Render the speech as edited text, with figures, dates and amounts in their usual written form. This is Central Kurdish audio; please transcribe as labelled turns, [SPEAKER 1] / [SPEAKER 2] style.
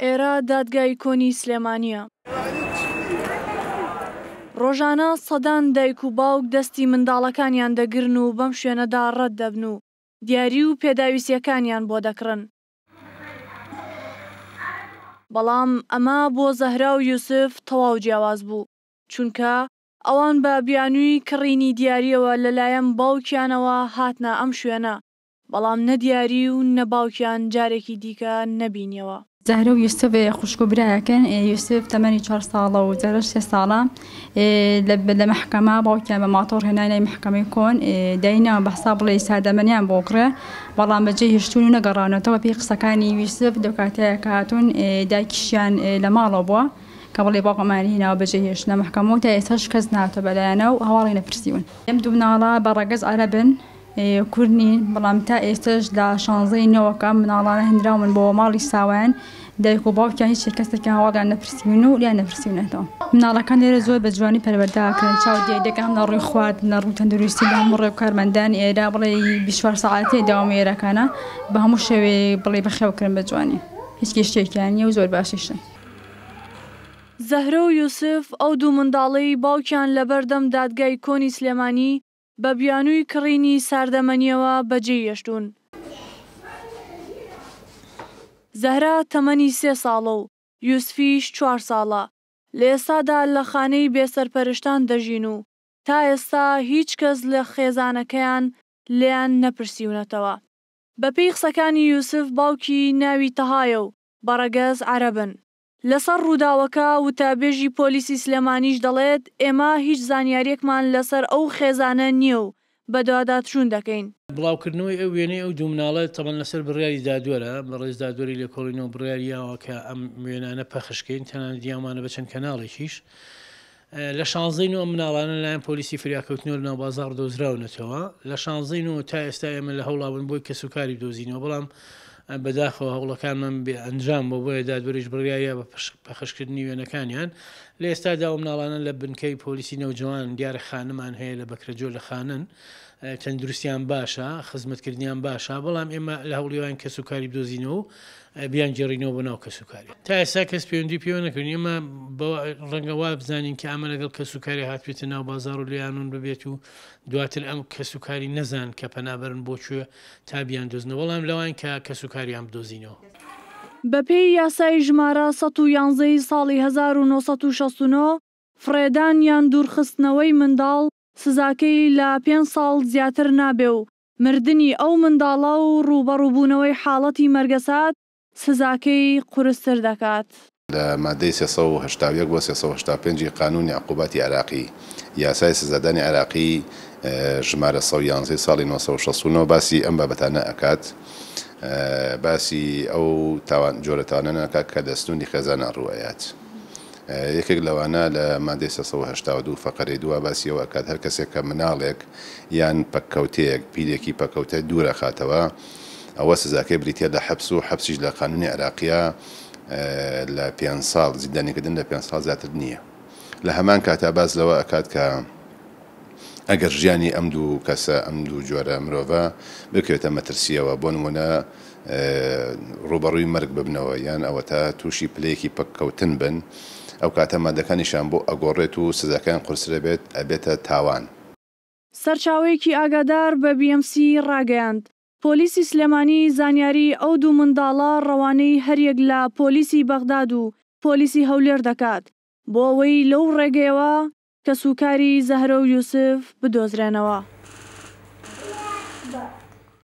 [SPEAKER 1] ئێرە دادگای کۆنی سلێمانییە. ڕۆژانە سەدان دایک و باوک دەستی منداڵەکانیان دەگرن و بەم شوێنەدا ڕەت دەبن و دیاری و پێداویستییەکانیان بۆ دەکڕن. بەڵام ئەمە بۆ زەهرا و یوسف تەواو جیاواز بوو، چونکە ئەوان بە بیانووی کڕینی دیارییەوە لەلایەن باوکیانەوە هاتنە ئەم شوێنە، بەڵام نە دیاری و نە باوکیان جارێکی دیکە نەبینیەوە.
[SPEAKER 2] زەهرە و یوسف خوشک و برایەکن، یوسف تەمەنی چوار ساڵە و زەهرەش سێ ساڵە. لە مەحکەمە باوکیان بە ماتۆڕ هێنای لای مەحکەمەی کۆن، دایناوە بە حساب بڵێ سادەمەنیان بۆ کڕێ، بەڵام بەجێی هێشتوون و نەگەڕاونەتەوە. پێی قسەکانی یوسف لەو کاتەیە کە هاتوون دایکیشیان لە ماڵەوە بووە کە بڵێ باوکم ئەمانی هێناوە بەجێی هێشتنە مەحکەمە و تا ئێستاش کەس نەهاتووە بەلایانە و هەواڵی نەپرسیون. ئەم دوو مناڵە بە ڕەگەز عەرەبن. کورد نین، بەڵام تا ئێستەش لە شانزەی نۆوەکە ئەم مناڵانە هێنراون بۆ ماڵی ساوایان، دایک و باوکیان هیچ کەسێکیان هەواڵیان نەپرسیون و لێیان نەپرسیونەتەوە. مناڵەکان لێرە زۆر بە جوانی پەروەردە ئەکرێن، چاودێری دەکەن هەم لە ڕووی خواردن لە ڕووی تەندروستی لە هەموو ڕێ کارمەندانی ئێرە بڵێی 24 سەعاتێ دەوامی ئێرەکانە بە هەموو شێوەیەک بڵێی بەخێو کرن بە جوانی هیچ کێشەیەکیان نییە و زۆر باشیشن.
[SPEAKER 1] زەهرە و یوسف ئەو دوو منداڵەی باوکیان لەبەردەم دادگای کۆنی سلێمانی بە بیانووی کڕینی ساردەمەنییەوە بەجێی هێشتوون. زەهرا تەمەنی سێ ساڵە و یوسفیش چوار ساڵە، لە ئێستادا لە خانەی بێسەرپەرشتان دەژین و تا ئێستا هیچ کەس لە خێزانەکەیان لێیان نەپرسیونەتەوە. بەپێی قسەکانی یوسف باوکی ناوی تەهایە و بە ڕەگەز عەرەبن. لەسەر ڕووداوەکە وتەبێژی پۆلیسی سلێمانیش دەڵێت، ئێمە هیچ زانیارییەکمان لەسەر ئەو خێزانە نییە و بەدواداچوون دەکەین.
[SPEAKER 3] بڵاوکردنەوەی ئەو وێنەی ئەو دوو مناڵە تەبعەن لەسەر بڕیاری دادوەرە، بەڕێز دادوەری لێکۆڵینەوە بڕیاری یاوە کە ئەم وێنانە پەخش کەین، تەنانەت یاومانە بە چەند کەناڵێکیش. لە شانزەی نۆ ئەم مناڵانە لەلایەن پۆلیسی فریاکەوتنەوە لەناو بازاڕ دۆزراونەتەوە. لە شانزەی نۆ تا ئێستا ئێمە لە هەوڵا بووین بۆی کەسوکاری بدۆزینەوە، بەڵام بەداخەوە هەوڵەکانمان بێ ئەنجام بووە، بۆیە دادوەریش بڕیاریا بە پەخشکردنی وێنەکانیان. لە ئێستادا ئەو مناڵانە لە بنکەی پۆلیسی نەوجەوان، دیارە خانمان هەیە لە بەکرەجۆ لە خانەن، تەندروستیان باشە، خزمەتکردنیان باشە، بەڵام ئێمە لە هەوڵی واین کەسوکاری بدۆزینەوە و بیانگێڕینەوە بۆ ناو کەسوکاری. تا ئێستا کەس پەیوەندی پێوە نەکردوین، ئێمە بەوە ڕەنگە وا بزانین کە ئەمە لەگەڵ کەسوکاری هاتبێتە ناو بازاڕ و لێیان ون ببێت و دواتر ئەم کەسوکاری نەزان کە پەنابەرن بۆ کوێ تا بیاندۆزنەوە، بەڵام لەوان کە کەسوکاریان بدۆزینەوە.
[SPEAKER 1] بەپێی یاسای ژمارە 111 ی ساڵی 1969، فڕێدان یان دوورخستنەوەی منداڵ سزاکەی لە پێنج ساڵ زیاتر نابێ و مردنی ئەو منداڵە و ڕووبەڕووبوونەوەی حاڵەتی مەرگەسات سزاکەی قورستر دەکات.
[SPEAKER 4] لە مادەی 381 بۆ 385 ی قانوونی عقوباتی عێراقی، یاسای سزادانی عێراقی، ژمارە 111 ی ساڵی 969 باسی ئەم بابەتانە ئەکات، باسی ئەو تاوان جۆرە تاوانانە ئەکات کە لە سنووری خێزانا ڕوو ئەیات. یەکێک لەوانە لە مادەی 382 فەقەرەی دووە باسی ئەوە ئەکات هەر کەسێک کە مناڵێک یان پەککەوتەیەک، پیرێکی پەکەوتە دوور ئەخاتەوە ئەوە سزاکەی بریتیە لە حەبس و حەبسیش لە قانونی عێراقیا لە پێنج ساڵ زیندانیکردن لە پێنج ساڵ زیاتر نییە. لە هەمان کاتا باس لەوە ئەکات کە ئەگەر ژیانی ئەم دوو کەسە، ئەم دوو جۆرە مرۆڤە بکەوێتە مەترسییەوە، بۆ نموونە ڕووبەڕووی مەرگ ببنەوە یان ئەوەتا تووشی پلەیەکی پەککەوتن بن، ئەو کاتە مادەکانیشیان بۆ ئەگۆڕێت و سزاکەیان قورستر ئەبێت، ئەبێتە تاوان.
[SPEAKER 1] سەرچاوەیەکی ئاگادار بە بی ئێم سی ڕاگەیاند، پۆلیسی سلێمانی زانیاری ئەو دوو منداڵە ڕەوانەی هەریەک لە پۆلیسی بەغداد و پۆلیسی هەولێر دەکات بۆ ئەوەی لەو ڕێگەیەوە کەسوکاری زەهرە و یوسف بدۆزرێنەوە.